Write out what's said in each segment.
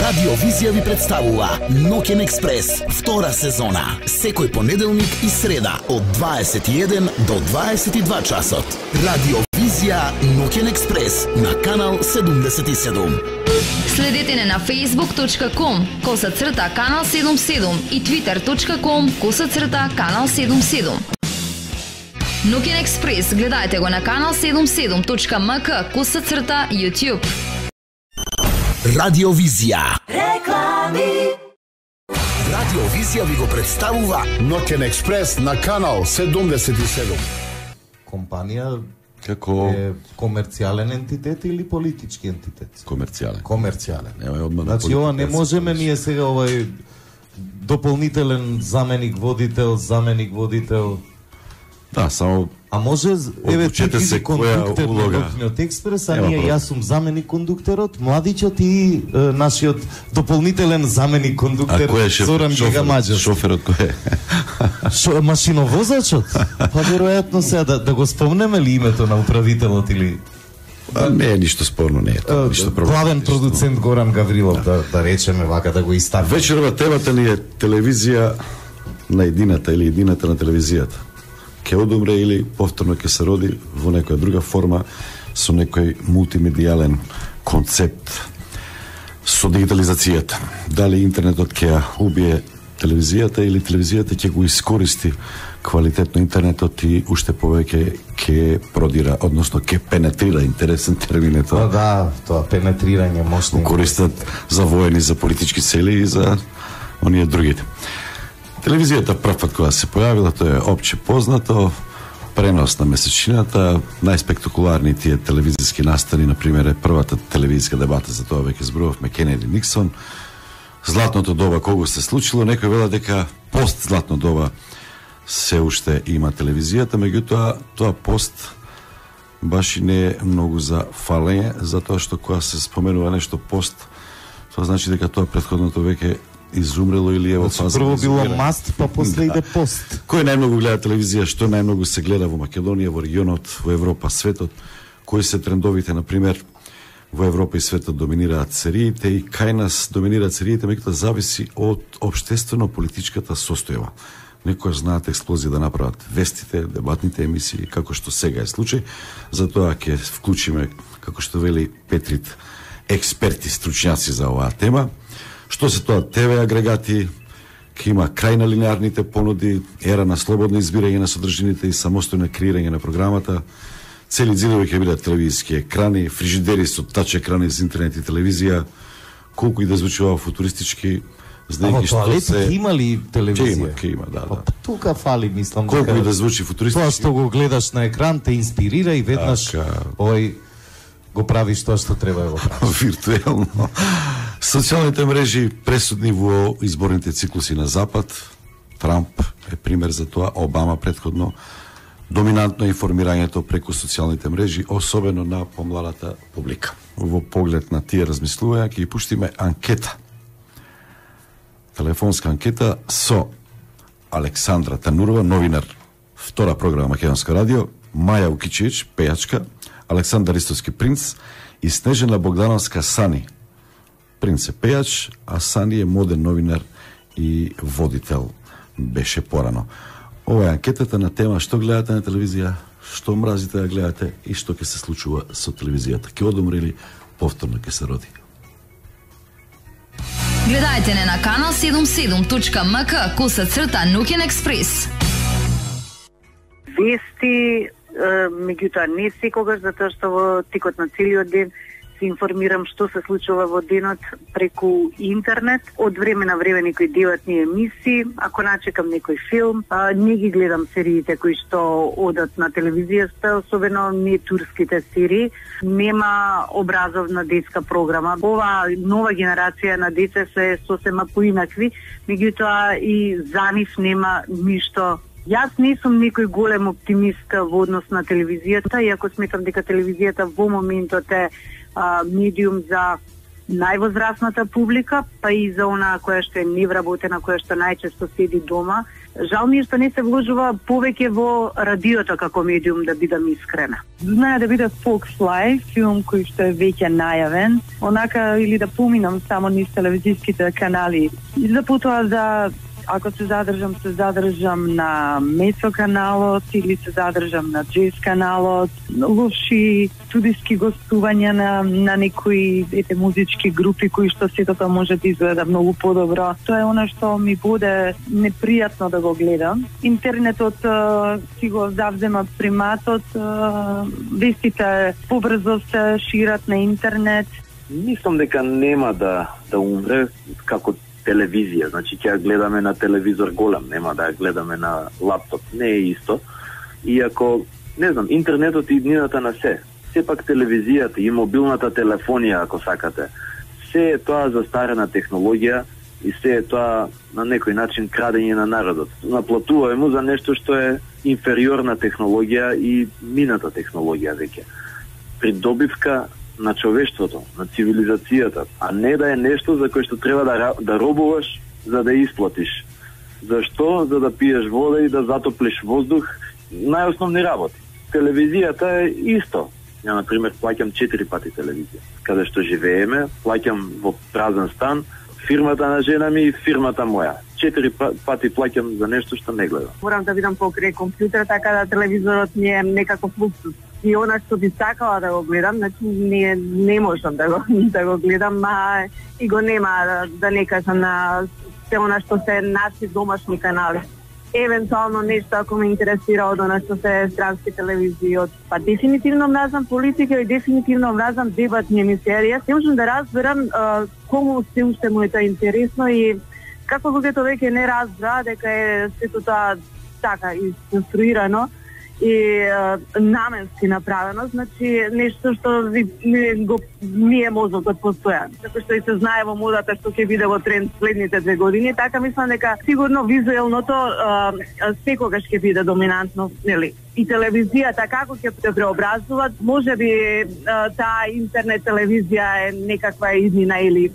Радио Визија ви представува Ноќен експрес, втора сезона. Секој понеделник и среда од 21 до 22 часот. Радио Визија Ноќен експрес на канал 77. Следете не на facebook.com/канал 77 и twitter.com/канал 77. Ноќен експрес гледајте го на канал 77.mk/YouTube. Радио Визија. Реклами. Радио Визија ви го представува Ноќен експрес на канал 77. Компанија како е комерцијален ентитет или политички ентитет? комерцијален. Комерцијален. Нема одма. Значи ова не можеме ние сега овај дополнителен заменик водител. Да, само А може еве Одлучете ти се биде која кондуктер на улога. Ноќниот експрес, а Нема ние проблем. јас сум заменик кондуктерот, младичот и нашиот дополнителен заменик А кондуктер кој е Зоран Гигамаџев. Шоферот кој е? Машиновозачот? Па веројатно сега да го спомнеме ли името на управителот или Не е ништо спорно, не е тоа, ништо проблем. главен продуцент Горан Гаврилов, да речеме вака, да го истакнеме. Вечерва темата ни е телевизија на едината или едината на телевизијата. Ке одумре или повторно ке се роди во некоја друга форма со некој мултимедијален концепт со дигитализацијата. Дали интернетот ќе ја убие телевизијата или телевизијата ќе го искористи квалитетно интернетот и уште повеќе ќе продира, односно ќе пенетрира, интересен термин е Па тоа, да, тоа пенетрирање мощно. користат за воени, за политички цели и за оние другите. Телевизијата прв пат кога се појавила, тоа е опче познато, пренос на месечината, најспектакуларни тие телевизиски настани, например, е првата телевизиска дебата, за тоа веќе зборувавме, Кенеди Никсон, златното доба кога се случило, некој велат дека пост златно доба се уште има телевизијата, меѓутоа тоа пост баш и не е многу за фалење, затоа што кога се споменува нешто пост, тоа значи дека тоа претходното веќе изумрело или е во фаза. Прво на било изумирање. маст, па после иде пост. Кој најмногу гледа телевизија, што најмногу се гледа во Македонија, во регионот, во Европа, светот, кои се трендовите, например, во Европа и светот доминираат сериите и кај нас доминираат сериите, меѓутоа зависи од општествено-политичката состојба. Некој знаат експлозија да направат вестите, дебатните емисии, како што сега е случај, затоа ќе вклучиме, како што вели Петрит, експерти, стручњаци за оваа тема. Што се тоа ТВ агрегати, ќе има крај на линеарните понуди, ера на слободно избирање на содржините и самостојно креирање на програмата, цели зидови ќе бидат телевизиски екрани, фрижидери со тач екрани за интернет и телевизија, колку и да звучува футуристички, А во знаејќи што тоалетот се... има ли телевизија? Ќе има, да. Па тука фали, мислам, Колку и да звучи тоа футуристички, што го гледаш на екран те инспирира и веднаш Така. овој го правиш тоа што треба да го правиш. виртуелно. Социјалните мрежи пресудни во изборните циклуси на Запад. Трамп е пример за тоа, Обама претходно. Доминантно информирањето преку социјалните мрежи, особено на помладата публика. Во поглед на тие размислувања ќе ги пуштиме анкета. Телефонска анкета со Александра Танурова, новинар, втора програма Македонско радио, Маја Укичевич, пејачка, Александар Истовски принц и Снежана Богдановска Сани. Принц е пејач, а Сани е моден новинар и водител беше порано. Ова е анкетата на тема што гледате на телевизија, што мразите да гледате и што ќе се случува со телевизијата. Ќе одумре или повторно ќе се роди. Гледајте не на канал 77.mk/Ноќен експрес. Вести, меѓутоа не секогаш, затоа што во текот на целиот ден се информирам што се случува во денот преку интернет. Од време на време некои деватни емисии, ако начекам некој филм, не ги гледам сериите кои што одат на телевизијата, особено не турските серии. Нема образовна детска програма. Ова нова генерација на деца се сосема поинакви, меѓутоа и за нив нема ништо. Јас не сум некој голем оптимист во однос на телевизијата, иако сметам дека телевизијата во моментот е медиум за највозрасната публика, па и за онаа која што е невработена, која што најчесто седи дома Жал ми е што не се вложува повеќе во радиото како медиум, да бидам искрена. Знае да биде Fox филм кој што е веќе најавен, онака или да поминам само низ телевизиските канали. И за потоа да ако се задржам на Месо каналот или се задржам на Джез каналот, лоши студиски гостувања на некои музички групи кои што сето тоа може да изгледа многу подобро. Тоа е она што ми буде непријатно да го гледам. Интернетот си го завзема приматот, вестите побрзо се шират на интернет. Мислам дека нема да умре како телевизија, значи ќе ја гледаме на телевизор голем, нема да ја гледаме на лаптоп, не е исто. Иако, не знам, интернетот и иднината на се. Сепак телевизијата и мобилната телефонија, ако сакате, се е тоа застарена технологија и се е тоа на некој начин крадење на народот. Наплатуваме му за нешто што е инфериорна технологија и мината технологија веќе. Придобивка на човештвото, на цивилизацијата, а не да е нешто за кое што треба да робуваш за да исплатиш. Зашто? За да пиеш вода и да затоплиш воздух, најосновни работи. Телевизијата е исто. Ја, например, плаќам 4 пати телевизија. Каде што живееме, плаќам во празен стан, фирмата на жена ми и фирмата моја. 4 пати плаќам за нешто што не гледам. Морам да видам покрај компјутер, така да телевизорот ми е некаков луксус. И она што би сакала да го гледам, значи не можам да го гледам, и го нема да не кажам на се она што се наши домашни канали. Евентуално нешто ако ме интересира од она што се странски телевизии. Па дефинитивно мразам политика и дефинитивно мразам дебатни емисии. Не можам да разберам кому се уште му е тоа интересно и како луѓето веќе не разбра дека е сето тоа така исконструирано и наменски направено, значи нешто што ми е мозокот постојан. Како што и се знае во модата што ќе биде во тренд следните 2 години, така мислам дека сигурно визуелното секогаш ќе биде доминантно, нели? И телевизијата како ќе се преобразува, можеби таа интернет телевизија е некаква иднина или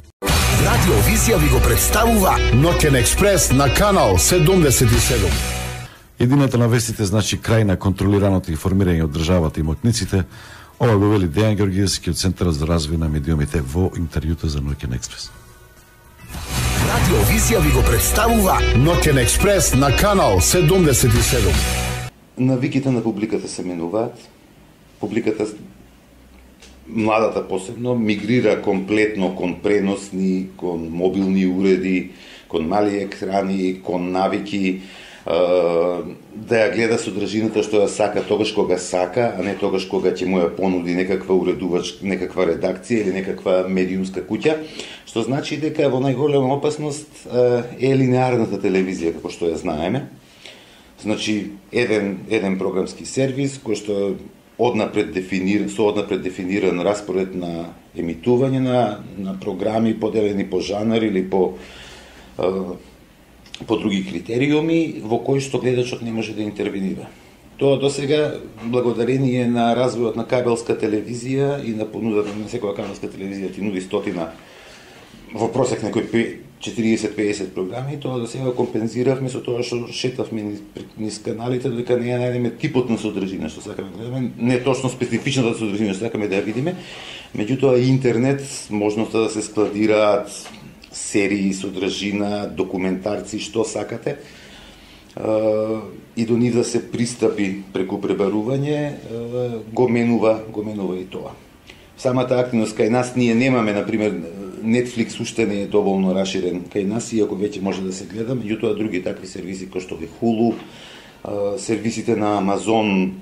Радио Визија ви го представува Ноќен експрес на канал 77. Едината на вестите значи крај на контролираното информирање од државата и моќниците. Ова го вели Дејан Георгиевски од Центарот за развој на медиумите во интервјуто за Ноќен експрес. Радио Визија ви го представува Ноќен експрес на канал 77. Навиките на публиката се менуваат. Публиката, младата посебно, мигрира комплетно кон преносни, кон мобилни уреди, кон мали екрани, кон навики, да ја гледа содржината што ја сака тогаш кога сака, а не тогаш кога ќе му ја понуди некаква уредувач, некаква редакција или некаква медиумска куќа, што значи дека во најголема опасност е линеарната телевизија, како што ја знаеме. Значи, еден програмски сервис кој што однапред дефиниран распоред на емитување на програми поделени по жанр или по други критериуми во кои што гледачот не може да интервенира. Тоа досега, благодарение на развојот на кабелска телевизија и на понудата на секоја кабелска телевизија ти нуди 100 во просек некој 40-50 програми, тоа досега компензиравме со тоа што шетавме низ каналите, дека не ја најдеме типот на содржина што сакаме да гледаме, не точно специфичната содржина што сакаме да ја видиме, меѓутоа интернет, можноста да се складираат серии, содржина, документарци, што сакате, и до нив да се пристапи преку пребарување, го менува и тоа. Самата активност кај нас, ние немаме, например, Netflix уште не е доволно раширен кај нас, иако веќе може да се гледа, меѓутоа други такви сервиси кои што е Hulu, сервисите на Amazon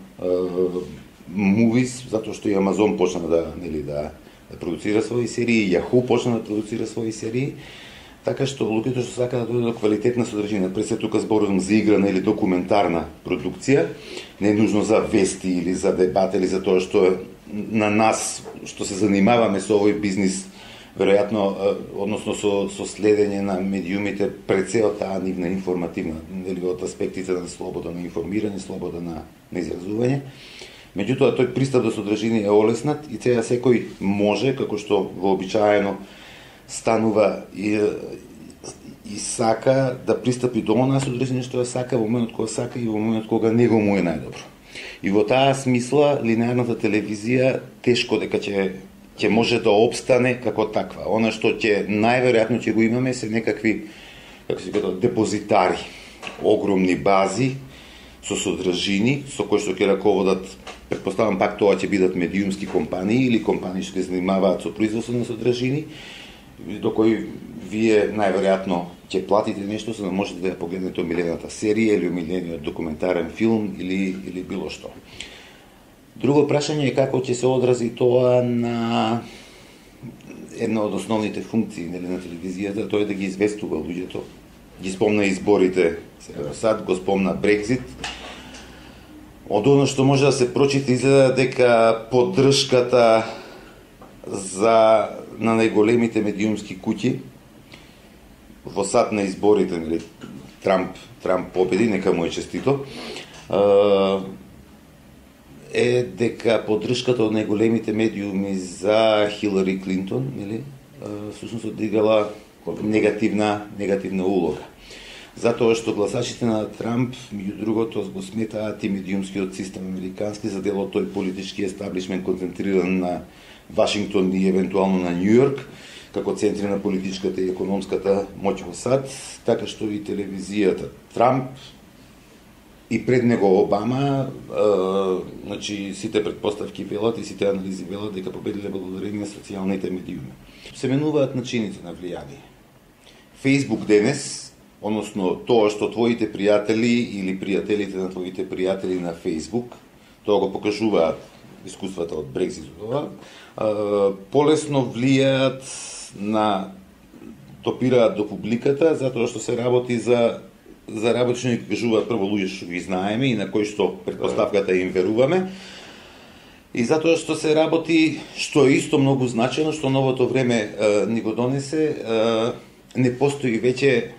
Movies, затоа што и Amazon почна да продуцира своји серии, Yahoo почна да продуцира своји серии, така што луѓето што сакаат да дојдат до квалитетна содржина, пред се тука зборувам за играна или документарна продукција, не е нужно за вести или за дебат или за тоа што на нас што се занимаваме со овој бизнис, веројатно, односно со следење на медиумите пред се од таа нивна информативна, или од аспектите на слобода на информирање, слобода на изразување. Меѓутоа, тој пристап до содржини е олеснат и сега секој може, како што вообичаено станува и сака да пристапи до она содржина што сака во моментот кога сака и во моментот кога него му е најдобро. И во таа смисла линеарната телевизија тешко дека ќе може да опстане како таква. Она што ќе најверојатно ќе го имаме се некакви, како се кажа, депозитари, огромни бази со содржини со кои што ќе раководат, претпоставам пак тоа ќе бидат медиумски компании или компании што ќе занимаваат со производство на содржини, до кои вие најверојатно ќе платите нешто за да можете да ја погледнете омилената серија или омилениот документарен филм или било што. Друго прашање е како ќе се одрази тоа на една од основните функции на телевизијата, тоа е да ги известува луѓето. Ги спомна изборите, сад го спомна Брекзит. Од оно што може да се прочита изгледа дека поддршката на најголемите медиумски куќи во сад на изборите, нели, Трамп победи, нека му е честито, е дека поддршката од најголемите медиуми за Хилари Клинтон, нели, всушност одиграла негативна улога. Затоа што гласачите на Трамп, меѓу другото, го сметаат и медиумскиот систем американски за дел од тој политички естаблишмент концентриран на Вашингтон и евентуално на Њујорк, како центри на политичката и економската моќ во САД, така што и телевизијата Трамп и пред него Обама, значи сите предпоставки велат и сите анализи велат дека победиле благодарение на социјалните медиуми. Се менуваат начините на влијание. Фејсбук денес, односно тоа што твоите пријатели или пријателите на твоите пријатели на Фејсбук, тоа го покажуваат искуствата од Брекзит, полесно влијаат допираат до публиката, затоа што се работи за работи што ни кажуваат прво луѓе што ги знаеме и на кои што предпоставката им веруваме, и затоа што се работи, што е исто многу значено, што новото време ни го донесе, не постои веќе,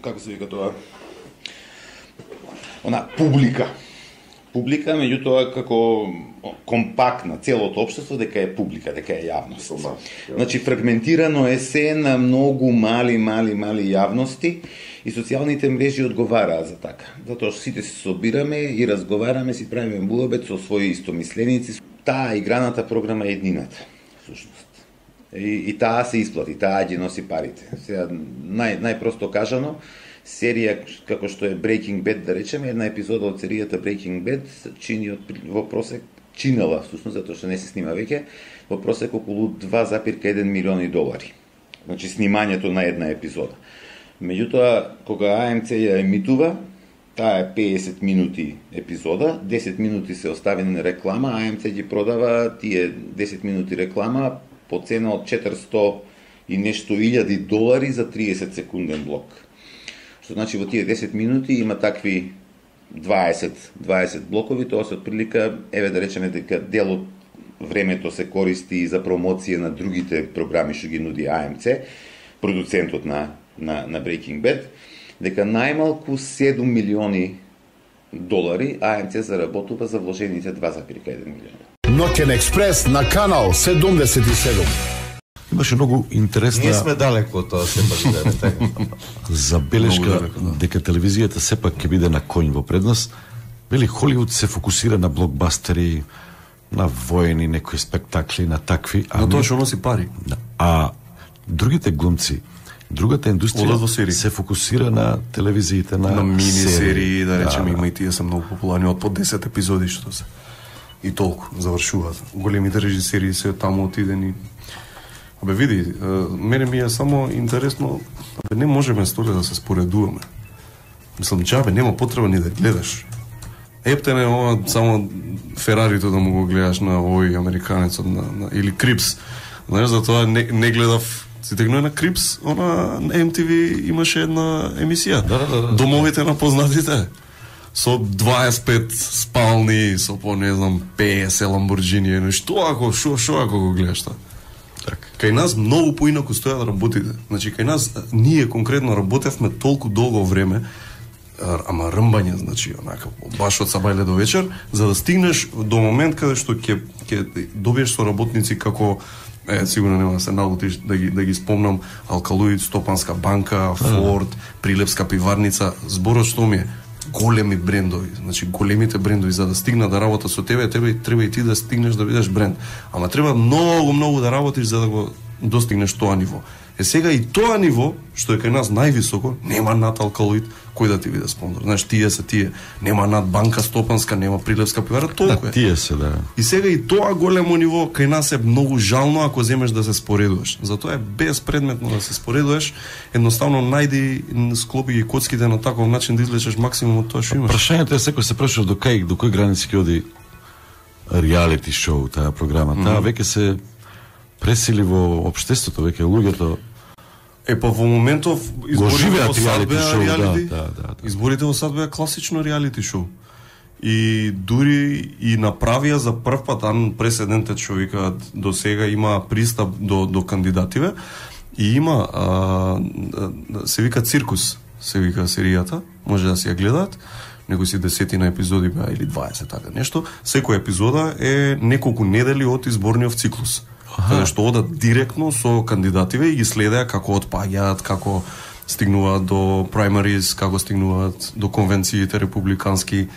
како се вика тоа, публика, меѓутоа како компактна целото општество дека е публика, дека е јавност. Значи фрагментирано е се на многу мали јавности и социјалните мрежи одговараат за така. Затоа што сите се собираме и разговараме, си правиме муабет со своји истомисленици. Таа играната програма е еднината, всушност. И таа се исплати, таа ги носи парите. Сега најпросто кажано, серија како што е Breaking Bad, да речеме, една епизода од серијата Breaking Bad чини во просек, чинела, всушност, затоа што не се снима веќе, во просек околу $2,1 милиони. Значи, снимањето на една епизода. Меѓутоа, кога АМЦ ја емитува, таа е 50 минути епизода, 10 минути се оставени на реклама, АМЦ ги продава тие 10 минути реклама по цена од $400 и нешто илјади за 30 секунден блок. Што значи во тие 10 минути има такви 20 блокови, тоа се отприлика, да речеме дека дел од времето се користи и за промоција на другите програми што ги нуди АМЦ, продуцентот на Breaking Bad, дека најмалку $7 милиони АМЦ заработува за вложените $2,1 милиона. Ноќен експрес на канал 77. Имаше многу интересна... Ние сме далеко од тоа сепак забелешка дека телевизијата сепак ќе биде на конј во предност. Вели, Холивуд се фокусира на блокбастери, на воени, некои спектакли, на такви... На тоа што носи пари. А другите глумци, другата индустрија се фокусира на телевизиите, на мини-серии, да речеме, има и тие се многу популарни, од по 10 епизоди што се. И толку завршуваат. Големите режисери се таму отидени. Види, мене ми е само интересно, не можеме столе да се споредуваме. Мислам, джабе, нема потреба ни да гледаш. Ептен е ова само Ферарито да му го гледаш на овој американецот или Крипс. Знаеш, затоа не гледав. Си тегнуе на Крипс, на MTV имаше една емисија. Домовите на познатите. Со 25 спални, со по, не знам, 50 Ламборджини. Што ако го гледаш тоа? Кај нас многу поинаку стојат работите. Значи, кај нас, ние конкретно работевме толку долго време, ама рмбање, значи, онака, баш од сабајле до вечер, за да стигнеш до момент каде што ќе добиеш соработници како Сигурно нема да се налутиш да ги спомнам. Алкалоид, Стопанска банка, Форд, Прилепска пиварница. Зборот што ми е големи брендови. Значи големите брендови за да стигнат да работат со тебе, треба и ти да стигнеш да бидеш бренд. Ама треба многу да работиш за да го достигнеш тоа ниво. Сега и тоа ниво, што е кај нас највисоко, нема над Алкалоид, кој да ти биде спонзор. Знаеш, тие. Нема над Банка Стопанска, нема Прилепска пивара, толку е. Тие се, да. И сега и тоа големо ниво кај нас е многу жално ако земеш да се споредуваш. Затоа е безпредметно да се споредуваш. Едноставно најди, склопи ги коцките на таков начин да извлечеш максимум од тоа што имаш. Прашањето е секој се прашува до кој граници ќе оди реалити шоу, таа програма. Таа веќе се пресили во општеството, веќе луѓето па во моментов изборите во САД беа реалити. Изборите во САД беа класично реалити шоу. И дури и направија за прв пат преседентот што викаат до сега има пристап до кандидативе и има се вика циркус, се вика серијата, може да си ја гледаат. Некои си 10 епизоди беа или 20 така нешто. Секоја епизода е неколку недели од изборниот циклус. Каде што одат директно со кандидативе и ги следеа како отпаѓаат, како стигнуваат до праймарис, како стигнуваат до конвенциите републикански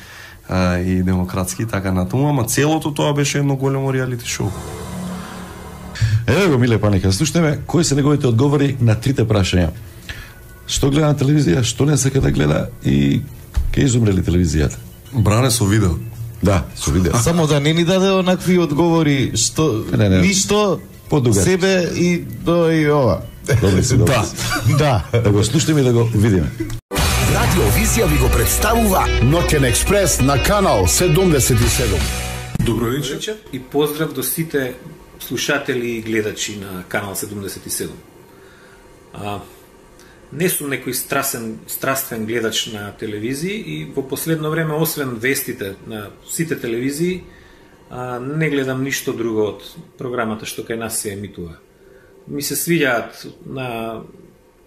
и демократски, така натаму, ама целото тоа беше едно големо реалити шоу. Еве го, Миле Паника, слушнеме кои се неговите одговори на трите прашања. Што гледа на телевизија, што не сака да гледа и ке изумре ли телевизијата? Бране со видео. Да, со видео. Само да не ни даде онакви одговори што ништо подугат себе и до и ова. Добри се, добри. Да. Да го слушнеме и да го видиме. Радио Визија ви го представува Ноќен експрес на канал 77. Добро вечер и поздрав до сите слушатели и гледачи на канал 77. Не сум некој страствен гледач на телевизии и во последно време, освен вестите на сите телевизии, не гледам ништо друго од програмата што кај нас се емитува. Ми се свиѓаат на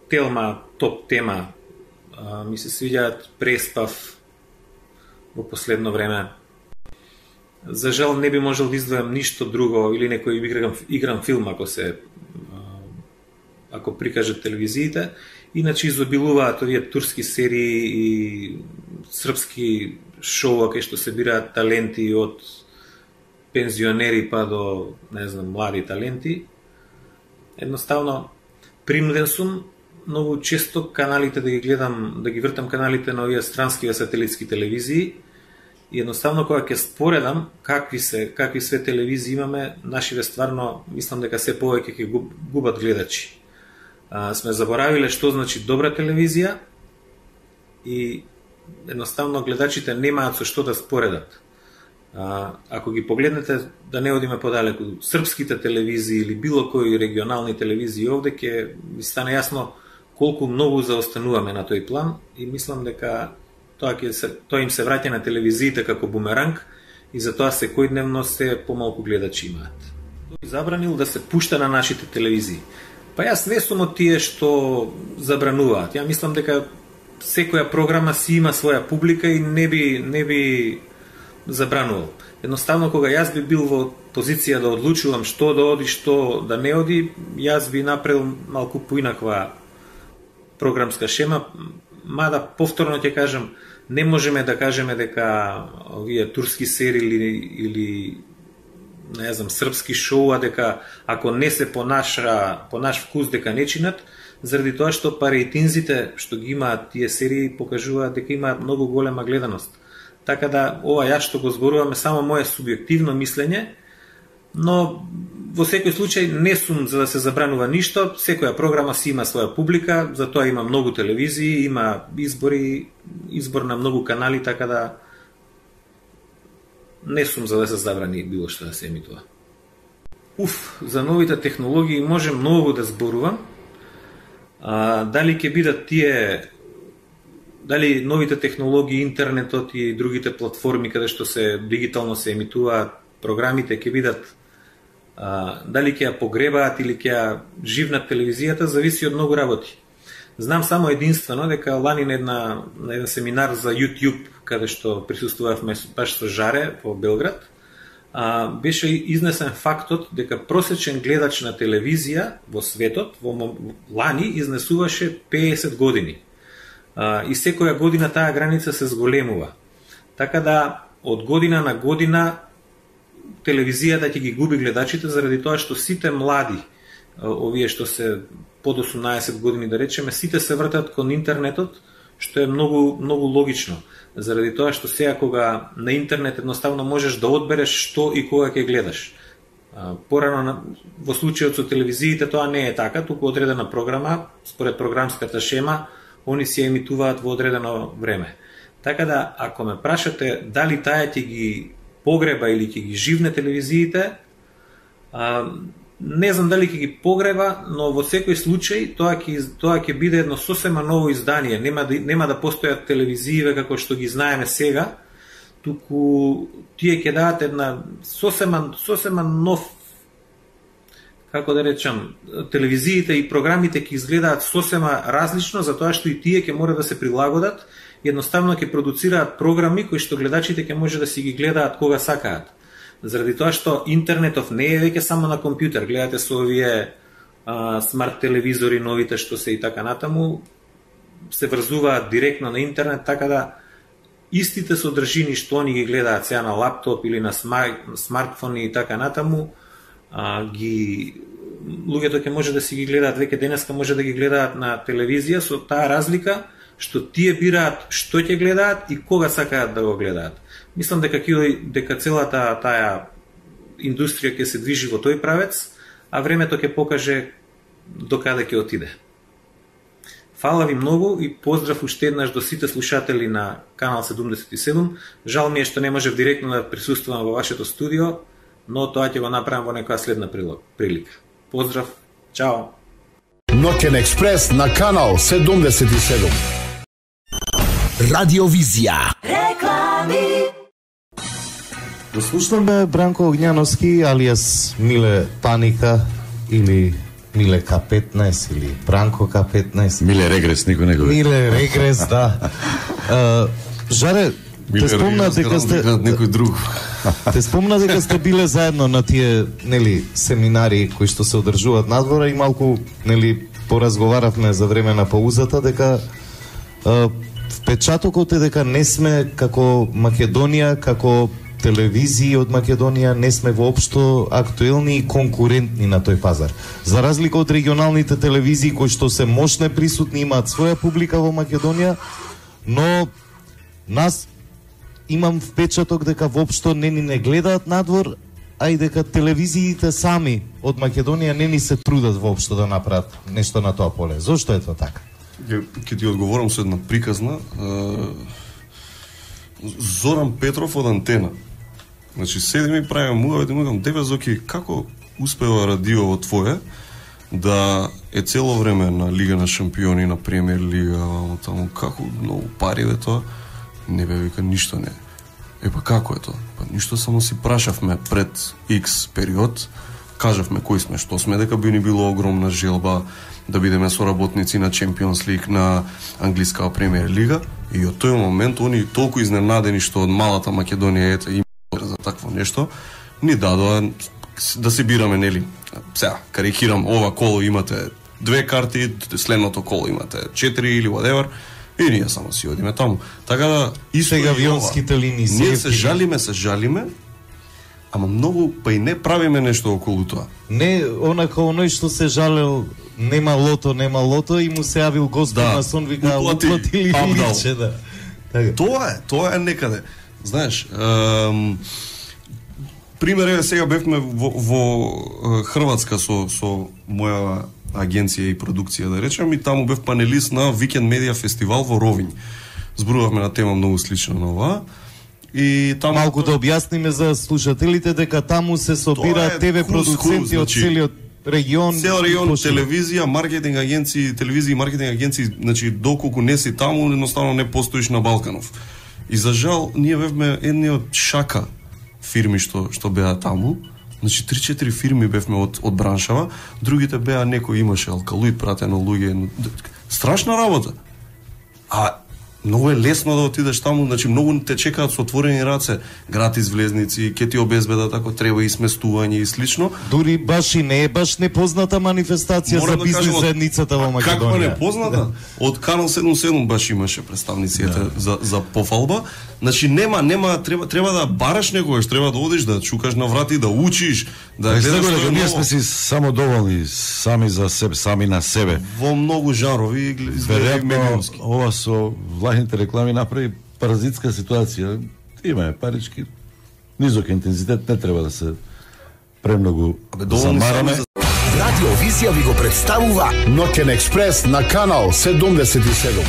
Телма, Топ тема, ми се свиѓаат Преспав во последно време. За жал не би можел да издвојам ништо друго или некој играм филм ако прикажат телевизиите. Иначе изобилуваат овие турски серии и српски шоуа кај што се бираат таленти од пензионери па до, не знам, млади таленти. Едноставно, принуден сум многу често каналите да ги гледам, да ги вртам каналите на овие странски сателитски телевизии и едноставно кога ќе споредам какви све телевизии имаме, нашите стварно мислам дека се повеќе ќе губат гледачи. Сме заборавиле што значи добра телевизија и едноставно гледачите немаат со што да споредат. Ако ги погледнете, да не одиме подалеку, српските телевизии или било кои регионални телевизии овде, ќе ви стане јасно колку многу заостануваме на тој план и мислам дека тоа им се враќа на телевизиите како бумеранг и затоа секојдневно се помалку гледачи имаат. Тој забранил да се пушта на нашите телевизии. Па јас не сум од тие што забрануваат. Ја мислам дека секоја програма си има своја публика и не би забранувал. Едноставно, кога јас би бил во позиција да одлучувам што да оди, што да не оди, јас би направил малку поинаква програмска шема, мада повторно ќе кажам, не можеме да кажеме дека овие турски серии или не знам, српски шоуа, дека ако не се по наш вкус дека не чинат, заради тоа што рейтинзите што ги имаат тие серии покажуваат дека имаат многу голема гледаност. Така да, ова јас што го зборуваме само моје субјективно мислење, но во секој случај не сум за да се забранува ништо, секоја програма си има своја публика, затоа има многу телевизии, има избор на многу канали, така да не сум за да се забрани било што да се емитува. За новите технологии може многу да зборувам. Дали ќе бидат дали новите технологии, интернетот и другите платформи каде што се дигитално се емитуваат програмите ќе бидат дали ќе ја погребаат или ќе ја живнат телевизијата, зависи од многу работи. Знам само единствено дека лани на еден семинар за YouTube, каде што присуствувавме баш со Жаре во Белград, беше изнесен фактот дека просечен гледач на телевизија во светот лани изнесуваше 50 години. И секоја година таа граница се зголемува. Така да од година на година телевизијата ќе ги губи гледачите заради тоа што сите млади, овие што се под 18 години да речеме, сите се вртат кон интернетот, што е многу логично. Заради тоа што сега кога на интернет едноставно можеш да одбереш што и кога ќе гледаш. Порано во случајот со телевизиите тоа не е така, туку одредена програма, според програмската шема, они се емитуваат во одредено време. Така да, ако ме прашате дали таа ќе ги погреба или ќе ги живне телевизиите, не знам дали ќе ги погреба, но во секој случај тоа ќе биде едно сосема ново издание. Нема да постојат телевизиите како што ги знаеме сега, туку тие ќе дадат една сосема нов, како да речам, телевизиите и програмите ќе изгледаат сосема различно, затоа што и тие ќе мора да се прилагодат, едноставно ќе продуцираат програми кои што гледачите ќе може да си ги гледаат кога сакаат. Заради тоа што интернетов не е веќе само на компјутер, гледате со овие смарт телевизори новите што се и така натаму, се врзуваат директно на интернет, така да истите содржини што они ги гледаат сега на лаптоп или на смартфони и така натаму, луѓето ќе може да си ги гледаат веќе денеска, може да ги гледаат на телевизија, со таа разлика што тие бираат што ќе гледаат и кога сакаат да го гледаат. Мислам дека целата таа индустрија ќе се движи во тој правец, а времето ќе покаже до каде ќе отиде. Фала ви многу и поздрав уште еднаш до сите слушатели на Канал 77. Жал ми е што не можев директно да присуствувам во вашето студио, но тоа ќе го направам во некоја следна прилика. Поздрав, чао! Ноќен експрес на Канал 77. Радиовизија. Реклами. Да слушнаме Бранко Огњановски, алијас Миле Паника или Миле К15 или Бранко К15. Миле Регрес, никој не го ве. Миле Регрес, да. Жаре, те спомна дека сте некој друг. Те спомна дека сте биле заедно на тие, нели, семинари кои што се одржуваат надвора и малку, нели, поразговаравме за време на паузата дека впечатокот е дека не сме како Македонија, како телевизии од Македонија, не сме воопшто актуелни и конкурентни на тој пазар. За разлика од регионалните телевизии кои што се мощне присутни, имаат своја публика во Македонија, но нас имам впечаток дека воопшто не гледаат надвор, а и дека телевизиите сами од Македонија не ни се трудат воопшто да направат нешто на тоа поле. Зошто е тоа така? Ќе ти одговорам со една приказна. Зоран Петров од Антена. Значи, седиме и правиме муавет и му кажам, деве Зоки, како успева радиово твое да е цело време на Лига на шампиони, на Премиер Лига, таму, како многу пари бе тоа? Не бе, вика, ништо не. Па како е тоа? Па ништо, само си прашавме пред X период, кажавме кои сме, што сме, дека би ни било огромна желба да бидеме соработници на Champions League, на англиска Премиер Лига, и од тој момент они толку изненадени што од малата Македонија ете има за такво нешто, ни дадоа да се бираме, нели, сега карикирам, ова коло имате 2 карти, следното коло имате 4 или whatever, и ние само си одиме таму. Така да, исто сега авионските линии ние се жалиме, ама многу па и не правиме нешто околу тоа. Не, онака оној што се жалел нема лото и му се јавил Господ на сон, вика уплатили личе, да. Тоа е некаде. Знаеш, пример е, сега бевме во Хрватска со моја агенција и продукција, да речем, и таму бев панелист на Викенд Медиа фестивал во Ровињ. Зборувавме на тема многу слична на оваа. И таму малку да објасниме за слушателите дека таму се собираат ТВ продуценти од целиот регион, телевизија, маркетинг агенции, значи доколку не си таму, едноставно не постоиш на Балканов. И за жал, ние бевме едни од шака фирми што беа таму. Значи 3-4 фирми бевме од браншава, другите беа некој имаше алкалоид пратено луѓе. Страшна работа. А многу е лесно да отидеш таму, значи многу те чекаат со отворени раце, гратис влезници, ќе ти обезбедат ако треба и сместување и слично. Дури баш и не е баш непозната манифестација за бизнес заедницата во Македонија. Како непозната? Од Канал 77 баш имаше представници за пофалба. Значи нема треба да бараш некогаш, треба да одиш да чукаш на врати, да учиш, да гледаш што е. Ние сме си само доволни сами за себе, сами на себе. Во многу жанрови изгледа медиумски. Ова со влахните реклами направи паразитска ситуација. Имаме парички, низок интензитет, не треба да се премногу замараме. Радио Визија ви го представува Ноќен експрес на Канал 77.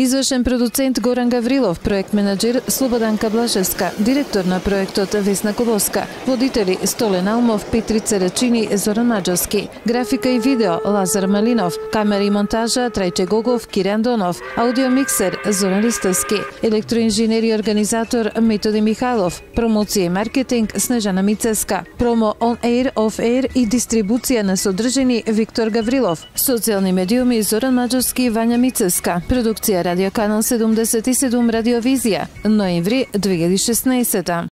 Извршен продуцент Горан Гаврилов, проект менаџер Слободанка Блажевска, директор на проектот Весна Колоска, водители Столен Алмов, Петрица Рачини, Зоран Маџовски, графика и видео Лазар Малинов, камера и монтажа Трајче Гогов, Кирјан Донов, аудиомиксер Зоран Ристовски, електроинженер и организатор Методи Михайлов, промоција и маркетинг Снежана Мицеска, промо on air, off air и дистрибуција на содржини Виктор Гаврилов, социјални медиуми Зоран Маџовски и Вања Мицеска, продукција радиоканал 77 Радиовизија, ноември 2016.